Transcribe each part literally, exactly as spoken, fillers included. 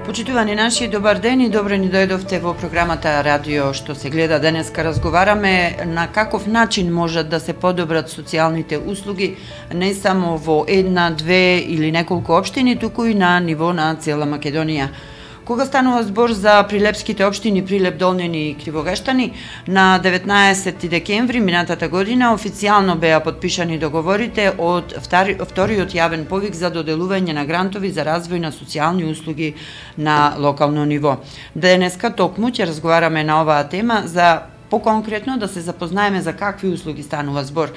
Почитувани наши, добар ден и добро ни дојдовте во програмата Радио што се гледа. Денеска разговараме на каков начин можат да се подобрат социјалните услуги не само во една, две или неколку општини, туку и на ниво на цела Македонија. Кога станува збор за прилепските општини Прилеп, Долнени и Кривогештани, на деветнаесети декември минатата година официјално беа потпишани договорите од вториот јавен повик за доделување на грантови за развој на социјални услуги на локално ниво. Денеска токму ќе разговараме на оваа тема за поконкретно да се запознаеме за какви услуги станува збор.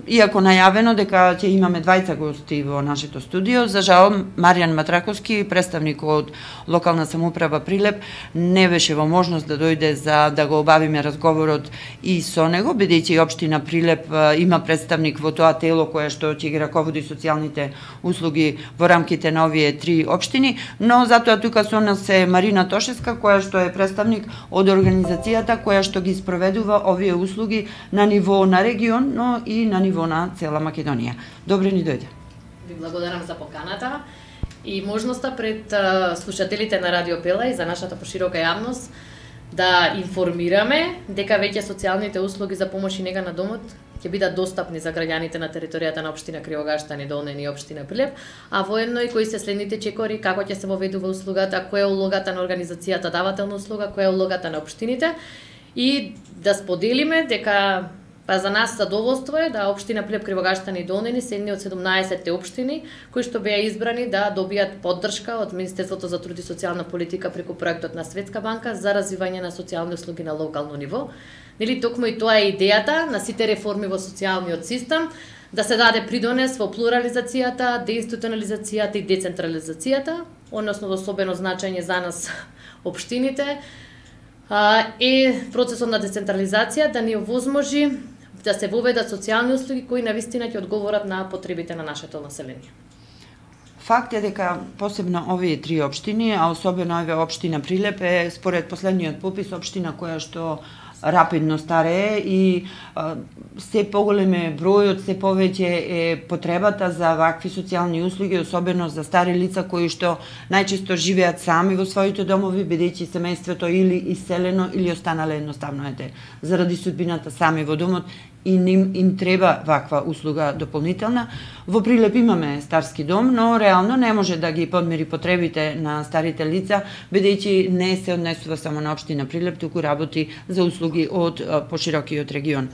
Иако најавено дека ќе имаме двајца гости во нашето студио, за жал Маријан Матраковски, представник од локална самоуправа Прилеп, не беше во можност да дојде за да го обавиме разговорот и со него, бидејќи општина Прилеп има представник во тоа тело кое што ќе ги раководи социјалните услуги во рамките на овие три општини, но затоа тука со нас е Марина Тошевска, која што е представник од организацијата која што ги спроведува овие услуги на ниво на регион, но и на ниво на цела Македонија. Добре ни дојде. Ви благодарам за поканата и можноста пред слушателите на Радио Пела и за нашата поширока јавност да информираме дека веќе социјалните услуги за помош и нега на домот ќе бидат достапни за граѓаните на територијата на општина Кривогештани, Долнени и општина Прилеп, а воедно и кои се следните чекори, како ќе се воведува услугата, која е улогата на организацијата давателна услуга, која е улогата на општините и да споделиме дека па за нас задоволство е да општина Прилеп, Кривогештани и Долнени се едни од седумнаесетте општини кои што беа избрани да добијат поддршка од Министерството за труд и социјална политика преку проектот на Светска банка за развивање на социјални услуги на локално ниво. Нели токму и тоа е идејата на сите реформи во социјалниот систем, да се даде придонес во плурализацијата, деинституционализацијата и децентрализацијата, односно од особено значење за нас општините, е процесот на децентрализација да ни овозможи да се воведат социјални услуги кои навистина ќе одговорат на потребите на нашето население. Факт е дека посебно овие три општини, а особено оваа општина Прилеп е според последниот попис општина која што рапидно старее и а, се поголем е бројот, се повеќе е потребата за вакви социјални услуги, особено за стари лица кои што најчесто живеат сами во своите домови, бидејќи семејството или иселено или останале едноставно ете заради судбината сами во домот и им, им треба ваква услуга дополнителна. Во Прилеп имаме старски дом, но реално не може да ги подмири потребите на старите лица, бидејќи не се однесува само на општина Прилеп, туку работи за услуги од поширокиот регион.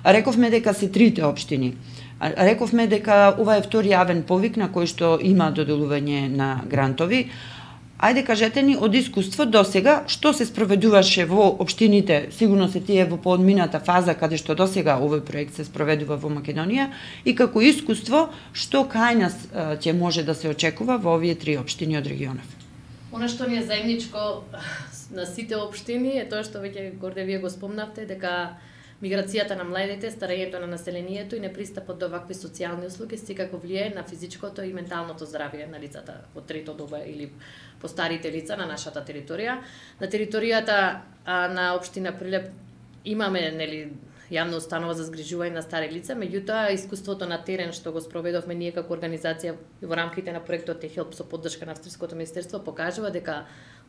Рековме дека се трите општини. Рековме дека ова е втори јавен повик на кој што има доделување на грантови. Ајде кажете ни од искуство до сега што се спроведуваше во општините, сигурно се тие во поодмината фаза каде што до сега овој проект се спроведува во Македонија и како искуство што кај нас ќе може да се очекува во овие три општини од регионов. Она што ни е заедничко на сите општини е тоа што веќе горде вие го спомнавте, дека миграцијата на младите, старењето на населението и непристапот до вакви социјални услуги секако влијае на физичкото и менталното здравје на лицата во трето доба или постарите лица на нашата територија. На територијата а, на општина Прилеп имаме нели јавна установа за згрижување на стари лица, меѓутоа искуството на терен што го спроведовме ние како организација во рамките на проектот Техелп со поддршка на Австриското министерство покажува дека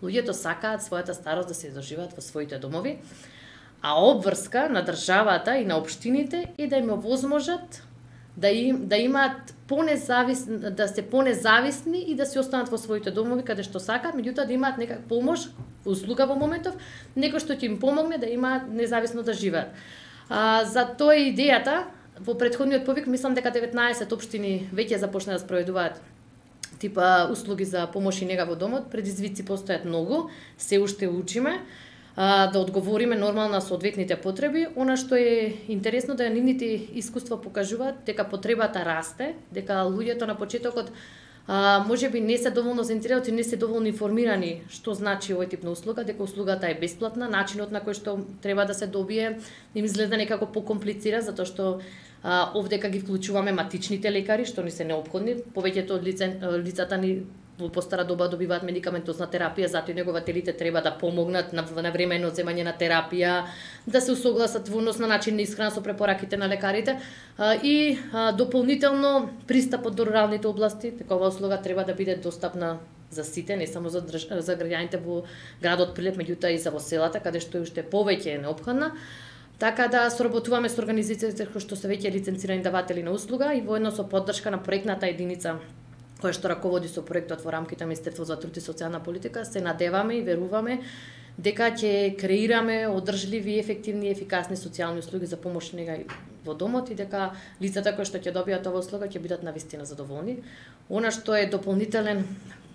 луѓето сакаат својата старост да се доживеат во своите домови. А обврска на државата и на општините е да им овозможат да им да имаат понезавис да се понезависни и да се останат во своите домови каде што сакаат, меѓутоа да имаат некак помош, услуга во моментов, некој што ќе им помогне да имаат независно да живеат. А, за тоа е идејата. Во претходниот повик мислам дека деветнаесет општини веќе започна да спроведуваат типа услуги за помош и нега во домот. Предизвици постојат многу, се уште учиме да одговориме нормално на соодветните потреби. Она што е интересно да нивните искуства покажуваат дека потребата расте, дека луѓето на почетокот а, може би не се доволно заинтересирани, не се доволно информирани што значи овој тип на услуга, дека услугата е бесплатна, начинот на кој што треба да се добие им изгледа некако покомплициран, затоа што а, овдека ги вклучуваме матичните лекари, што ни се неопходни, повеќето од лица, лицата ни во постара доба добиваат медикаментозна терапија, затоа и негователите треба да помогнат на, на времено земање на терапија, да се усогласат во однос на начин на исхрана со препораките на лекарите а, и а, дополнително пристапот до руралните области, такова услуга треба да биде достапна за сите, не само за, држ... за граѓаните во градот Прилеп, меѓутоа и за во селата, каде што уште повеќе е неопходна. Така да соработуваме со организациите кои што се веќе лиценцирани даватели на услуга и воедно со поддршка на проектната единица која што раководи со проектот во рамките на Министерството за труд и социјална политика, се надеваме и веруваме дека ќе креираме одржливи, ефективни и ефикасни социјални услуги за помош и нега во домот и дека лицата кои што ќе добијат оваа услуга ќе бидат навистина задоволни. Она што е дополнителен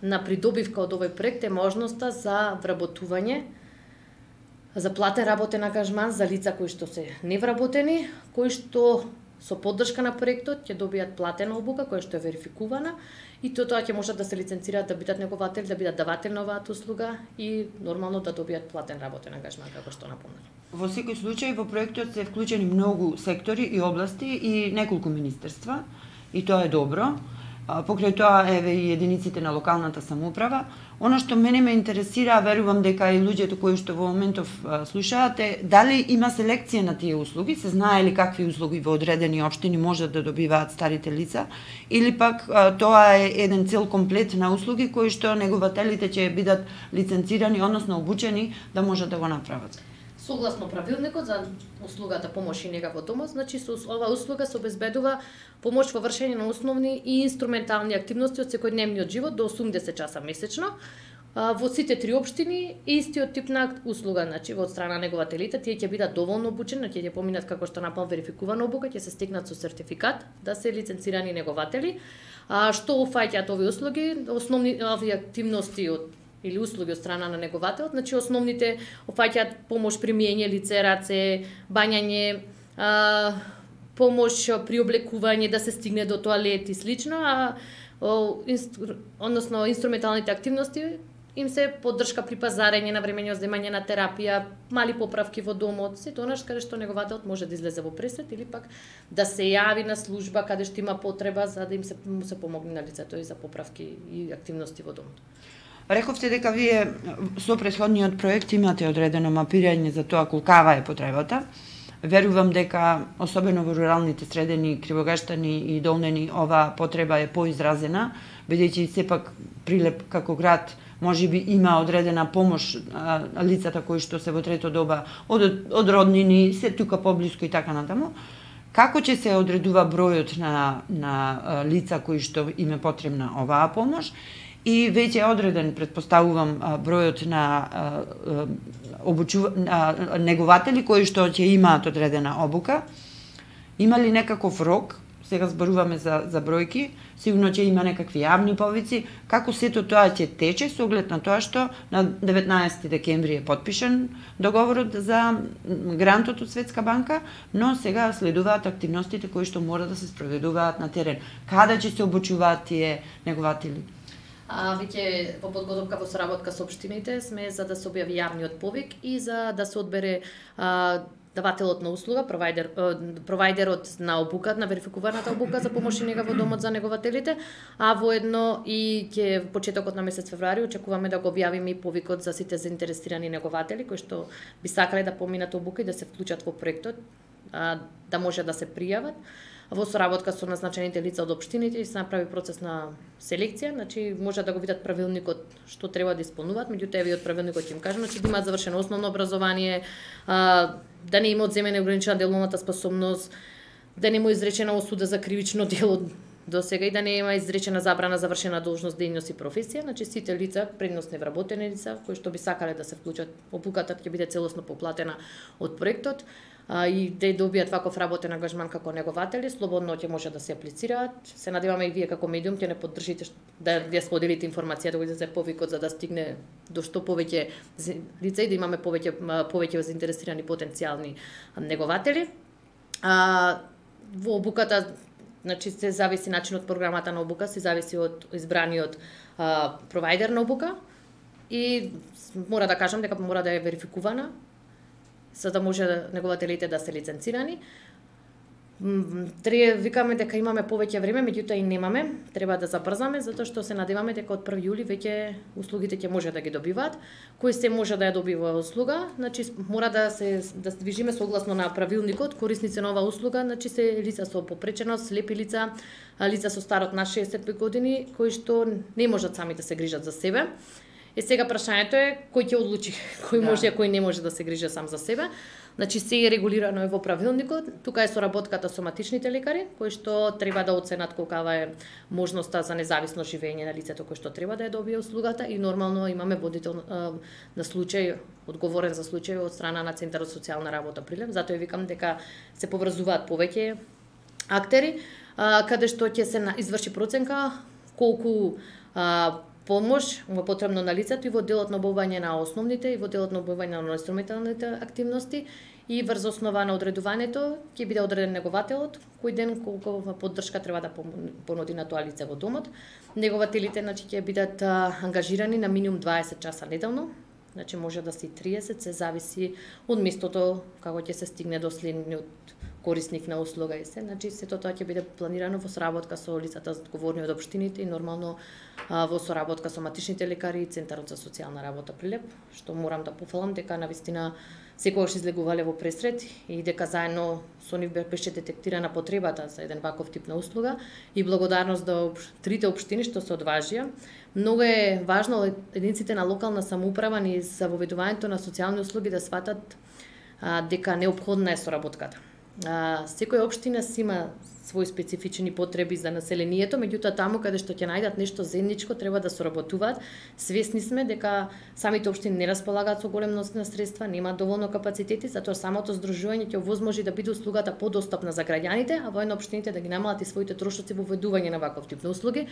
на придобивка од овој проект е можноста за вработување, за платен работен ангажман за лица кои што се невработени, кои што со поддршка на проектот ќе добијат платена обука која што е верификувана и тоа ќе можат да се лиценцираат да бидат негователи, да бидат даватели на оваа услуга и нормално да добијат платен работен ангажман како што напомнав. Во секој случај во проектот се вклучени многу сектори и области и неколку министерства и тоа е добро. Покрај тоа еве и единиците на локалната самоуправа. Она што мене ме интересира, верувам дека и луѓето кои што во моментов слушаат, е дали има селекција на тие услуги, се знае ли какви услуги во одредени општини можат да добиваат старите лица, или пак тоа е еден цел комплет на услуги кои што негователите ќе бидат лиценцирани, односно обучени да можат да го направат. Согласно правилникот за услугата помош и нега во домот, значи со оваа услуга се обезбедува помош во вршење на основни и инструментални активности од секојдневниот живот до осумдесет часа месечно. Во сите три општини истиот тип на услуга, значи од страна на негователите, тие ќе бидат доволно обучени, ќе ќе поминат како што напол верификувана обука, ќе се стекнат со сертификат да се лиценцирани негователи. А што уфаќаат овие услуги? Основни овие активности од или услуги од страна на негователот, значи основните опфаќаат помош при миење лице, раце, бањање, а, помош при облекување, да се стигне до тоалет и слично, а о, инстру, односно инструменталните активности им се поддршка при пазарење, навремење земање на терапија, мали поправки во домот, се тоа нешто каде што негователот може да излезе во пресвет или пак да се јави на служба каде што има потреба за да им се, му се помогне на лицето и за поправки и активности во домот. Рековте дека вие со претходниот проект имате одредено мапирање за тоа колкава е потребата. Верувам дека, особено во руралните средини, Кривогаштани и Долнени, оваа потреба е поизразена, бидејќи сепак Прилеп како град можеби има одредена помош а, лицата кои што се во трето доба од, од роднини, се тука поблиску и така натаму. Како ќе се одредува бројот на, на лица кои што им е потребна оваа помош? И веќе е одреден, предпоставувам, бројот на обучува, негователи кои што ќе имаат одредена обука. Има ли некаков рок? Сега зборуваме за, за бројки, сигурно ќе има некакви јавни повици. Како сето тоа ќе тече со оглед на тоа што на деветнаесети декември е потпишан договорот за грантот од Светска банка, но сега следуваат активностите кои што мора да се спроведуваат на терен. Каде ќе се обучуваат тие негователи? А веќе во подготовка во соработка со општините сме за да се објави јавниот повик и за да се одбере а, давателот на услуга, провајдер, провајдерот на обука, на верификуваната обука за помош и нега во домот за негователите, а воедно и ќе почетокот на месец февруари очекуваме да го објавиме и повикот за сите заинтересирани негователи кои што би сакале да поминат обука и да се вклучат во проектот, а, да може да се пријават. Во соработка со назначените лица од општините и се направи процес на селекција, значи може да го видат правилникот што треба да исполнуваат, меѓутоа еве од правилникот ќе им кажам, значи да имаат завршено основно образование, а, да не има одземена ограничена деловната способност, да не му изречена осуда за кривично дело до сега и да не има изречена забрана за вршена должност, дејност и професија, значи сите лица, предност невработени лица, кои што би сакале да се вклучат, обуката ќе биде целосно поплатена од проектот, а, и да добијат ваков работен ангажман како негователи, слободно ќе може да се аплицираат. Се надеваме и вие како медиум ќе не поддржите да ја споделите информација, да го излезе повикот за да стигне до што повеќе лица и да имаме повеќе повеќе заинтересирани потенцијални негователи. А, во обуката, значи се зависи начинот програмата на обука, се зависи од избраниот а, провајдер на обука и мора да кажам дека мора да е верификувана за да може негователите да се лиценцирани. Треба викаме дека имаме повеќе време, меѓутоа и немаме, треба да забрзаме затоа што се надеваме дека од први јули веќе услугите ќе може да ги добиваат. Кој се може да ја добива услуга, значи мора да се да се движиме согласно на правилникот. Корисници на оваа услуга, значи се лица со попреченост, слепи лица, лица со старот на шеесет години кои што не можат сами да се грижат за себе. Е сега прашањето е кој ќе одлучи кој може, а кој не може да се грижи сам за себе. Значи се е регулирано во правилникот. Тука е соработката со матичните лекари кои што треба да оценат колкава е можноста за независно живење на лицето кој што треба да ја добие услугата и нормално имаме водител на случај, одговорен за случај од страна на Центарот за социјална работа Прилеп. Затоа викам дека се поврзуваат повеќе актери каде што ќе се изврши проценка колку помош му потребно на лицето и во делот на обавање на основните и во делот на обавање на инструменталните активности и врз основа на одредувањето ќе биде одреден негователот кој ден колку поддршка треба да понуди на тоа лице во домот. Негователите значи ќе бидат ангажирани на минимум дваесет часа неделно. Значи може да се и триесет, се зависи од местото како ќе се стигне до следниот корисник на услуга и се. Значи сето тоа ќе биде планирано во соработка со лицата одговорни од општините и нормално во соработка со матичните лекари и Центарот за социјална работа Прилеп, што морам да пофалам дека навистина секогаш излегувале во пресред и дека заедно со нив беше детектирана потребата за еден ваков тип на услуга и благодарност до трите општини што се одважија. Многу е важно единиците на локална самоуправа ни за воведувањето на социјални услуги да сватат а, дека неопходна е соработката. А, секоја општина си има свои специфични потреби за населението, меѓутоа таму каде што ќе најдат нешто заедничко треба да соработуваат. Свесни сме дека самите општини не располагаат со голем нос на средства, немаат доволно капацитети, затоа самото здружување ќе овозможи да биде услугата подостапна за граѓаните, а воедно општините да ги намалат и своите трошоци во воведување на ваков тип на услуги.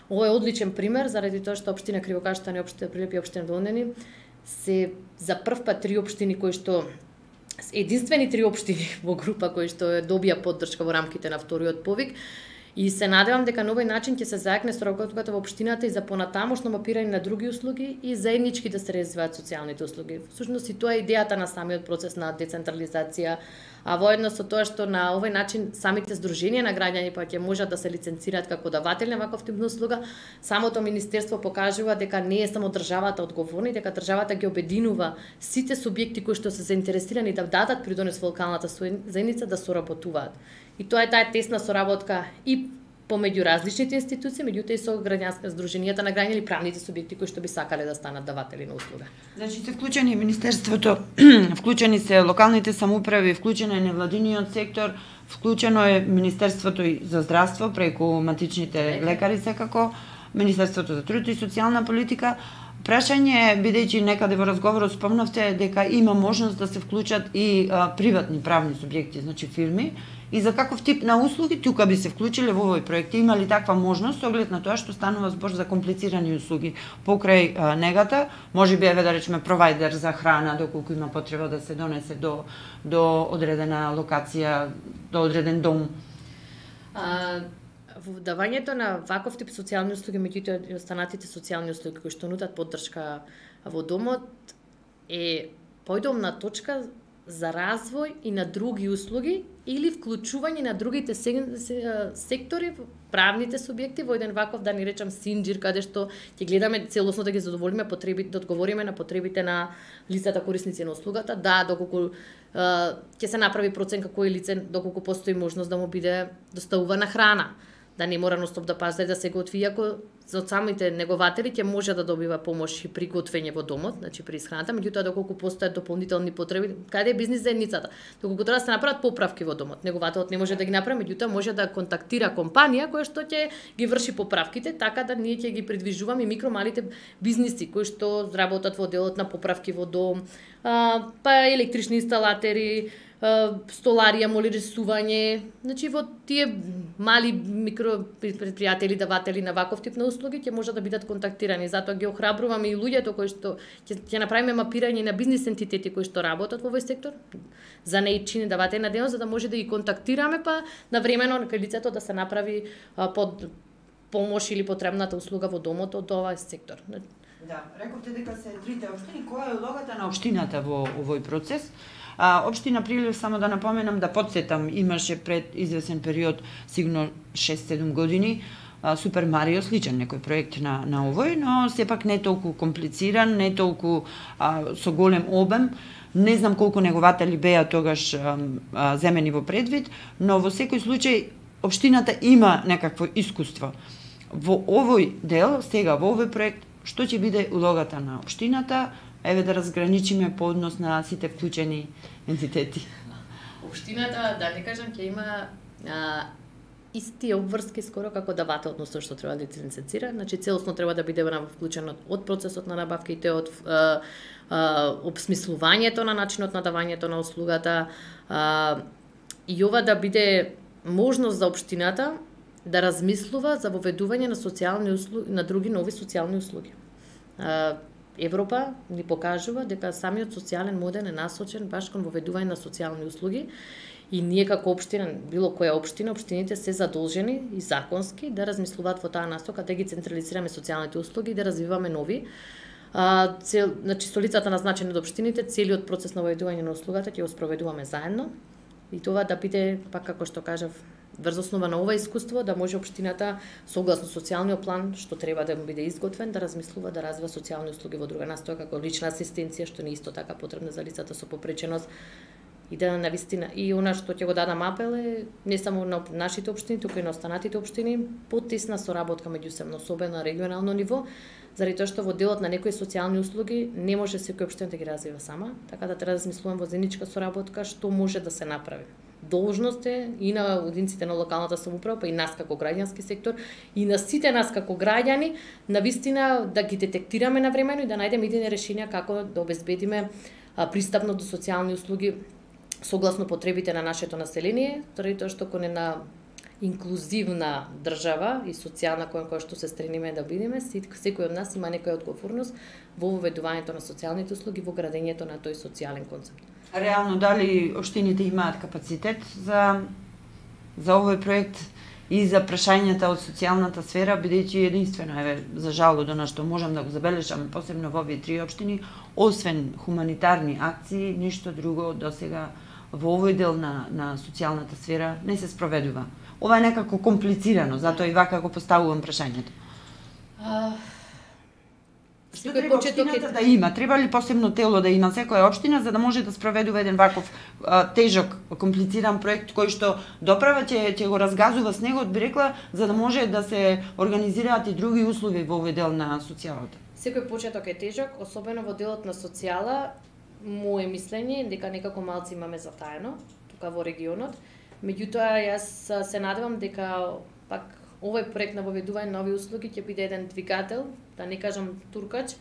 Ова е одличен пример заради тоа што општина Кривокаштан и општина Прилеп и општина Долнени се за прв пат три општини кои што единствени три општини во група кои што добија поддршка во рамките на вториот повик и се надевам дека на овој начин ќе се заекне соработката во општината и за понатамошно мапирање на други услуги и заеднички да се развиваат социјалните услуги. Всушност и тоа е идејата на самиот процес на децентрализација, а воедно со тоа што на овој начин самите здруженија на граѓани па ќе можат да се лиценцираат како даватели на ваков тип на услуга, самото министерство покажува дека не е само државата одговорна, дека државата ги обединува сите субјекти кои што се заинтересирани да дадат придонес во локалната заедница да соработуваат. И тоа е таа тесна соработка и помеѓу различните институции, меѓутоа и со граѓанска здруженијата на граѓани или правните субјекти кои што би сакале да станат даватели на услуга. Значи се вклучени Министерството, вклучени се локалните самоуправи, вклучен е невладиниот сектор, вклучено е Министерството за здравство преку матичните лекари секако, Министерството за труд и социјална политика. Прашање е, бидејќи некаде во разговорот спомнавте дека има можност да се вклучат и а, приватни правни субјекти, значи фирми, и за каков тип на услуги тука би се вклучиле во овој проект? Има ли таква можност со оглед на тоа што станува збор за комплицирани услуги покрај а, негата? Може би еве да речеме провајдер за храна доколку има потреба да се донесе до до одредена локација, до одреден дом. А... Во давањето на ваков тип социјални услуги, меѓутоа и останатите социјални услуги кои што нудат поддршка во домот е појдомна точка за развој и на други услуги или вклучување на другите сектори, правните субјекти во еден ваков, да ни речам, синџир, каде што ќе гледаме целосно да ги задоволиме потребите, да одговориме на потребите на лицата корисници на услугата. Да, доколку ќе се направи проценка кој лице, доколку постои можност да му биде доставувана храна, да не мора ностоп да пазда и да се готви, иако од самите негователи ќе може да добива помош и при готвење во домот, значи при исхраната, меѓутоа доколку постојат дополнителни потреби, каде е бизнис заедницата? Доколку треба да се направат поправки во домот, негователот не може да ги направи, меѓутоа може да контактира компанија која што ќе ги врши поправките, така да ние ќе ги придвижуваме и микро малите бизниси кои што работат во делот на поправки во дом, а, па електрични инсталатери, столарија, моли рисување, значи во тие мали микро предпријатели, даватели на ваков тип на услуги ќе можат да бидат контактирани. Затоа ги охрабруваме и луѓето кои што ќе ќе направиме мапирање на бизнис ентитети кои што работат во овој сектор, за неичини даватели на дејност, за да може да ги контактираме па навремено кај лицето да се направи а, под помош или потребната услуга во домот од овој сектор. Да, рековте дека се трите општини, која е улогата на општината во овој процес? А, општина Прилив, само да напоменам, да подсетам, имаше пред извесен период, сигурно шест-седум години, Супер Марио, сличен некој проект на, на овој, но сепак не толку комплициран, не толку а, со голем обем. Не знам колку негователи беа тогаш а, а, земени во предвид, но во секој случај општината има некакво искуство. Во овој дел, сега во овој проект, што ќе биде улогата на општината, еве да разграничиме по однос на сите вклучени ентитети. Општината, да не кажам, ќе има а, исти обврски скоро како давател, односно што треба да лицензира, значи целосно треба да биде вклучен од процесот на набавките, од а, а, обсмислувањето на начинот на давањето на услугата, а, и ова да биде можност за општината да размислува за воведување на социјални услуги, на други нови социјални услуги. А, Европа ни покажува дека самиот социјален модел е насочен баш кон воведување на социјални услуги. И ние како општина, било која општина, општините се задолжени и законски да размислуваат во таа насока, да ги централизираме социјалните услуги и да развиваме нови. А, цел, значи, со лицата назначени од општините, целиот процес на воведување на услугата ќе го спроведуваме заедно. И тоа да биде, пак како што кажав, врз основа на ова искуство, да може општината, согласно социјалниот план, што треба да биде изготвен, да размислува да развива социјални услуги во друга настоја, како лична асистенција, што не е исто така потребна за лицата со попреченост. И да навистина, и она што ќе го дадам апел е не само на нашите општини, туку и на останатите општини, потесна соработка меѓусебно, особено на регионално ниво, заради тоа што во делот на некои социјални услуги не може секој општина да ги развива сама, така да треба да размислуваме во заедничка соработка што може да се направи. Должност е и на одинците на локалната самоуправа, па и нас како граѓански сектор, и на сите нас како граѓани, навистина да ги детектираме навремено и да најдеме идејни решенија како да обезбедиме пристапно до социјални услуги согласно потребите на нашето население, заради тоа што кон една инклузивна држава и социјална кон која што се стремиме да бидеме, секој од нас има некоја одговорност во воведувањето на социјалните услуги, во градењето на тој социјален концепт. Реално, дали општините имаат капацитет за за овој проект и за прашањата од социјалната сфера, бидејќи единствено, еве, за жал до на што можам да го забележам, посебно во овие три општини, освен хуманитарни акции, ништо друго досега во овој дел на, на социјалната сфера не се спроведува. Ова е некако комплицирано, затоа и вака го поставувам прашањето. А... Што треба општината да има? Треба ли посебно тело да има секоја општина за да може да спроведува еден ваков а, тежок, комплициран проект кој што доправа ќе ќе го разгазува снегот, би рекла, за да може да се организираат и други услови во овој дел на социјалата? Секој почеток е тежок, особено во делот на социјала. Моje мислење е дека некако малци имаме затаено тука во регионот. Меѓутоа, јас се надевам дека пак овој проект на воведување на нови услуги ќе биде еден двигател, да не кажам туркач,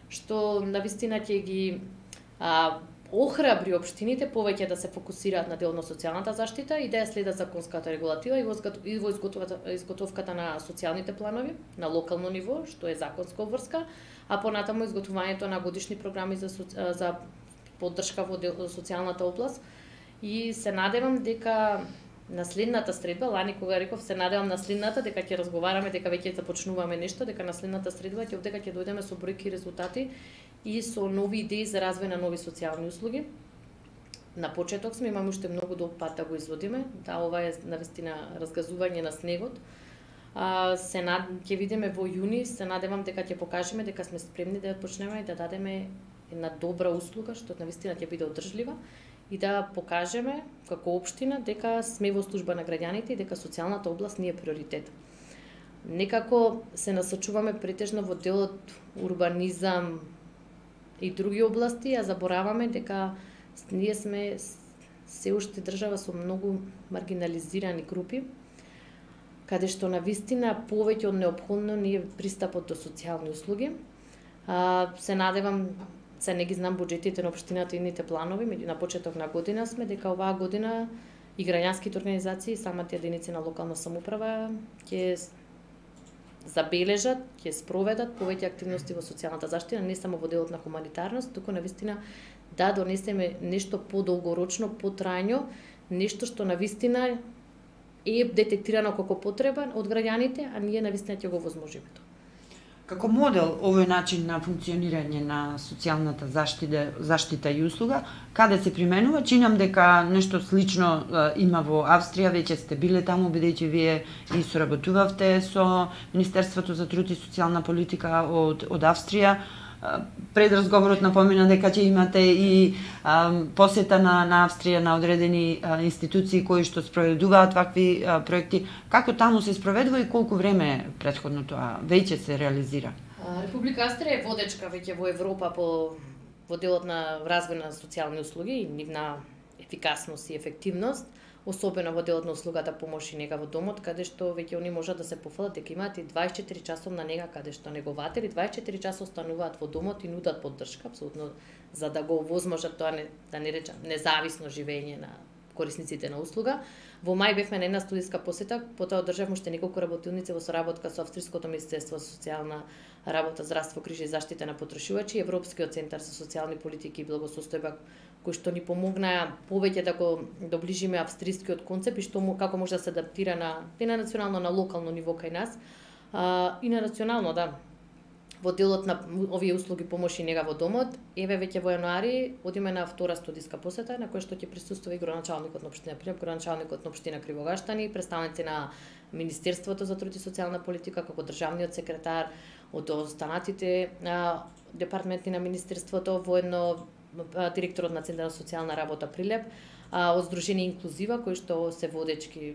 што навистина ќе ги а, охрабри општините повеќе да се фокусираат на дел на социјалната заштита и да ја следат законската регулатива и во изготовката на социјалните планови на локално ниво, што е законска обврска, а понатаму изготвувањето на годишни програми за, за поддршка во социјалната област. И се надевам дека наследната средба, лани кога реков се надевам наследната, дека ќе разговараме, дека веќе започнуваме нешто, дека наследната средба ќе дека ќе дојдеме со бројки и резултати и со нови идеи за развој на нови социјални услуги. На почеток сме, имаме уште многу долг пат да го изводиме, да ова е навистина разгазување на снегот. А, се над ќе видиме во јуни, се надевам дека ќе покажеме дека сме спремни да ја почнеме и да дадеме една добра услуга што навистина ќе биде одржлива и да покажеме како општина дека сме во служба на граѓаните и дека социјалната област ни е приоритет. Некако се насочуваме претежно во делот урбанизам и други области, а забораваме дека ние сме се уште држава со многу маргинализирани групи, каде што навистина повеќе од неопходно ни е пристапот до социјални услуги. А, се надевам, се не ги знам буџетите на општината и ините планови, меѓу на почеток на година сме, дека оваа година и граѓанските организации, самите единици на локална самоуправа ќе забележат, ќе спроведат повеќе активности во социјалната заштита, не само во делот на хуманитарност, туку навистина да донесеме нешто подолгорочно, потрајно, нешто што навистина е детектирано како потреба од граѓаните, а ние навистина ќе го возможиме тоа. Како модел овој начин на функционирање на социјалната заштита, заштита и услуга, каде се применува? Чинам дека нешто слично е, има во Австрија, веќе сте биле таму, бидејќи вие и соработувавте со Министерството за труд и социјална политика од, од Австрија. Пред разговорот напомена дека ќе имате и а, посета на, на Австрија на одредени а, институции кои што спроведуваат вакви а, проекти. Како таму се спроведува и колку време претходно тоа веќе се реализира? Република Австрија е водечка веќе во Европа по во делот на развој на социјални услуги и нивна ефикасност и ефективност, особено во делот на услугата помош и нега во домот, каде што веќе они можат да се пофалат дека имаат и дваесет и четири часовна нега, каде што негователи дваесет и четири часа остануваат во домот и нудат поддршка, апсолутно, за да го овозможат тоа, не, да не речам, независно живење на корисниците на услуга. Во мај бевме на една студиска посета, потоа одржавме уште неколку работилници во соработка со Австриското министерство за социјална работа, здравство, грижа и заштита на потрашувачи, Европскиот центар за социјални политики и благосостојба, кои што ни помогнаа повеќе да го доближиме австрискиот концепт и што како може да се адаптира на не на национално, на локално ниво кај нас, а, и на национално, да. Во делот на овие услуги помош и нега во домот, еве веќе во јануари одиме на втора студиска посета на која што ќе присуствува и градоначалникот на општина Прилеп, градоначалникот на општина Кривогаштани, представници на Министерството за труд и социјална политика, како државниот секретар, од останатите а, департаменти на Министерството, воедно директорот на Центарот за социјална работа Прилеп, а, од Сдружение Инклузива, кои што се водечки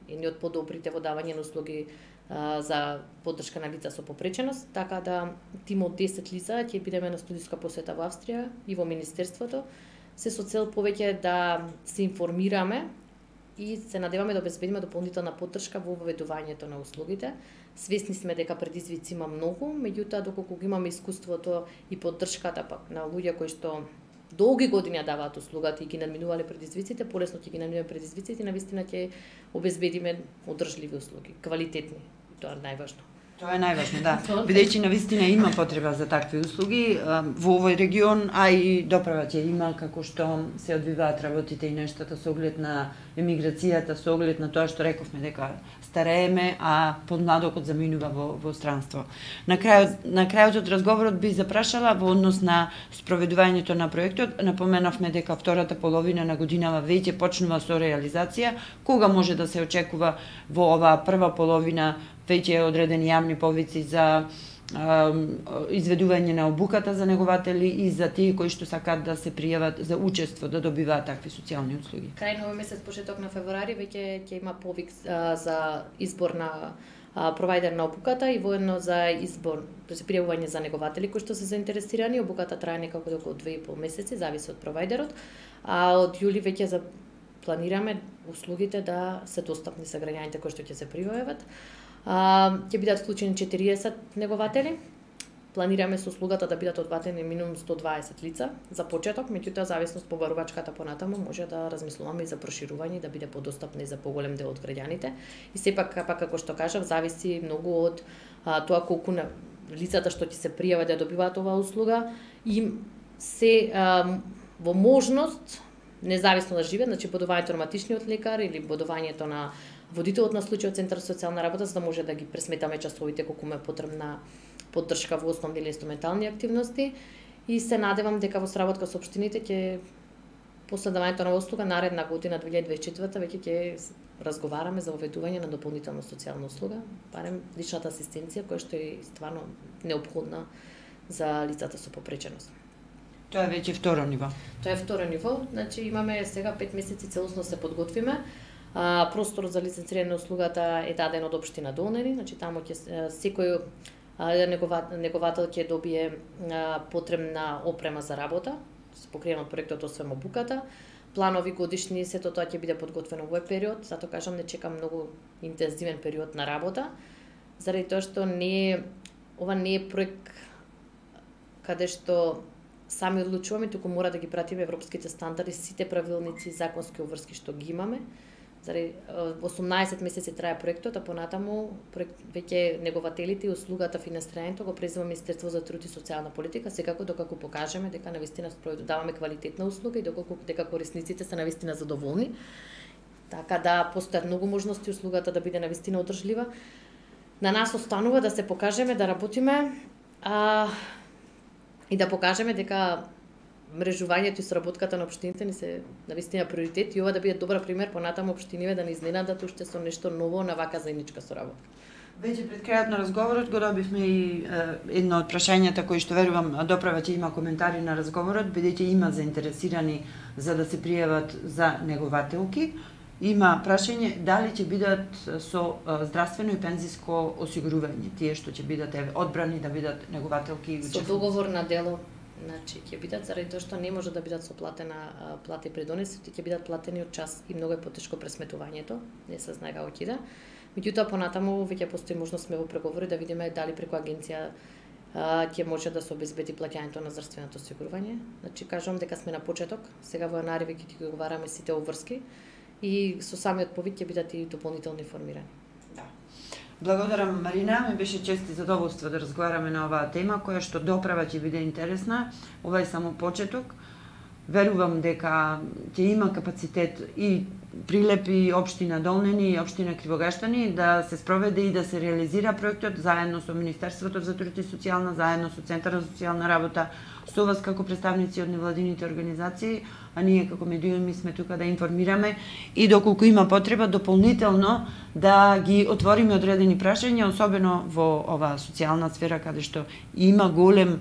едни од подобрите во давање на услуги а, за поддршка на лица со попреченост, така да тим од десет лица ќе бидеме на студиска посета во Австрија и во Министерството, се со цел повеќе да се информираме и се надеваме да обезбедиме дополнителна поддршка во воведувањето на услугите. Свесни сме дека предизвици има многу, меѓутоа доколку го имаме искуството и поддршката пак на луѓе кои што долги години ја даваат услугата и ги надминувале предизвиците, полесно ќе ги надминуваме предизвиците и навистина ќе обезбедиме одржливи услуги, квалитетни. Тоа е најважно. Тоа е најважно, да. Бидејќи навистина има потреба за такви услуги во овој регион, а и доправа ќе има како што се одвиваат работите и нештата со оглед на емиграцијата, со оглед на тоа што рековме дека старееме, а подмладокот заминува во, во странство. На крајот, на крајот од разговорот би запрашала во однос на спроведувањето на проектот, напоменавме дека втората половина на годинава веќе почнува со реализација. Кога може да се очекува во оваа прва половина веќе одредени јавни повици за а, изведување на обуката за негователи и за тие кои што сакаат да се пријават за учество, да добиваат такви социјални услуги? Крај на овој месец, почеток на февруари, веќе ќе има повик а, за избор на а, провајдер на обуката и воедно за избор, за пријавување за негователи кои што се заинтересирани. Обуката трае некако околу две и пол месеци, зависи од провајдерот. А од јули веќе за планираме услугите да се достапни за граѓаните кои што ќе се пријават. Uh, ќе бидат вклучени четириесет негователи. Планираме со услугата да бидат одватени минимум сто дваесет лица за почеток, меѓутоа зависност по барувачката понатаму може да размислуваме и за проширување, да биде подостапна и за поголем дел од граѓаните. И сепак, пак како што кажав, зависи многу од а, тоа колку на лицата што ќе се пријават да добиваат оваа услуга и се а, во можност независно да живеат, значи бодувањето на матичниот лекар или бодувањето на водителот на случајот Центар за социјална работа, за да може да ги пресметаме часовите колку ме потребна поддршка во основни или инструментални активности. И се надевам дека во сработка со општините ќе после давањето на услуга наредна година две илјади дваесет и четврта веќе ќе разговараме за воведување на дополнителна социјална услуга, барем личната асистенција која што е стварно неопходна за лицата со попреченост. Тоа е веќе второ ниво. Тоа е второ ниво, значи имаме сега пет месеци целосно се подготвиме. А, просторот за лиценцирање на услугата е даден од општина Долнери, значи таму ќе секој неговател ќе добие а, потребна опрема за работа, покриено од проектот освен обуката. Планови годишни, сето тоа ќе биде подготвено во овој период, затоа кажам не чекам многу интензивен период на работа, заради тоа што не е ова не е проект каде што сами одлучуваме, туку мора да ги пратиме европските стандарди, сите правилници, законски обврски што ги имаме. Заради осумнаесет месеци трае проектот, а понатаму проект, веќе негователите и услугата финансирањето го презема Министерство за труд и социјална политика, секако докако покажеме дека навистина даваме квалитетна услуга и доколку дека корисниците се навистина задоволни. Така да постојат многу можности услугата да биде навистина одржлива. На нас останува да се покажеме, да работиме а, и да покажеме дека мрежувањето и соработката на општините ни се навистина приоритет и ова да биде добар пример понатаму општиниве да не изненадат уште со нешто ново на вака заедничка соработка. Веќе пред крајот на разговорот го добивме и е, едно од прашањата кои што верувам доправа ќе има коментари на разговорот, бидејќи има заинтересирани за да се пријават за негователки. Има прашање дали ќе бидат со здравствено и пензиско осигурување, тие што ќе бидат одбрани да бидат негователки. Со договор на дело, значи ќе бидат заради тоа што не може да бидат со платена плата и придонесоци, ќе бидат платени од час и многу е потешко пресметувањето, не се знае како ќе иде. Меѓутоа понатаму веќе постои можност сме во преговори да видиме дали преку агенција ќе може да се обезбеди плаќањето на здравственото осигурување. Значи кажувам дека сме на почеток, сега во јануари веќе ќе ги договараме сите обврски и со самиот повик ќе бидат и дополнително информирани. Да. Благодарам, Марина, ми беше чест и задоволство да разговараме на оваа тема која што доправа ќе биде интересна. Ова е само почеток. Верувам дека ќе има капацитет и Прилепи, општина Долнени и општина Кривогаштани да се спроведе и да се реализира проектот заедно со Министерството за труд и социјална, заедно со Центарот за социјална работа, со вас како представници од невладините организации, а ние како медиуми сме тука да информираме и доколку има потреба дополнително да ги отвориме одредени прашања, особено во оваа социјална сфера каде што има голем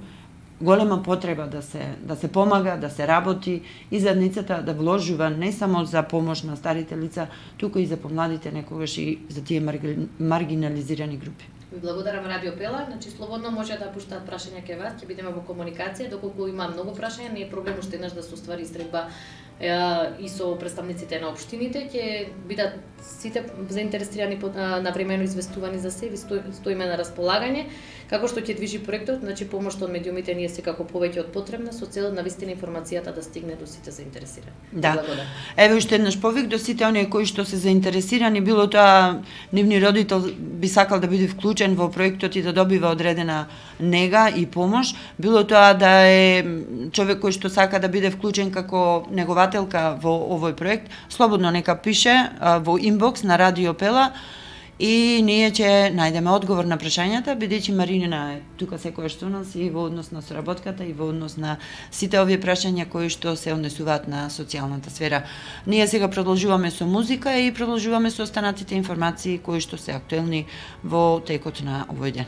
голема потреба да се да се помага, да се работи и заедницата да вложува не само за помош на старите лица, туку и за помладите, некогаш и за тие маргинализирани групи. Ви благодарам Радио Пела, значи слободно може да пуштаат прашања кај вас, ќе бидеме во комуникација, доколку има многу прашања, не е проблем уште еднаш да се оствари истребба и со представниците на општините, ќе бидат сите заинтересирани навремено известувани за се, стоиме на располагање, како што ќе движи проектот, значи помошта од медиумите ние секако повеќе од потребна со цел навистина информацијата да стигне до сите заинтересирани. Да. Еве уште еднаш повик до сите оние кои што се заинтересирани, било тоа нивни родител би сакал да биде вклучен во проектот и да добива одредена нега и помош, било тоа да е човек кој што сака да биде вклучен како негователка во овој проект, слободно нека пише во инбокс на Радио Пела и ние ќе најдеме одговор на прашањата, бидејќи Марина е тука секојаш со нас и во однос на соработката и во однос на сите овие прашања кои што се однесуваат на социјалната сфера. Ние сега продолжуваме со музика и продолжуваме со останатите информации кои што се актуелни во текот на овој ден.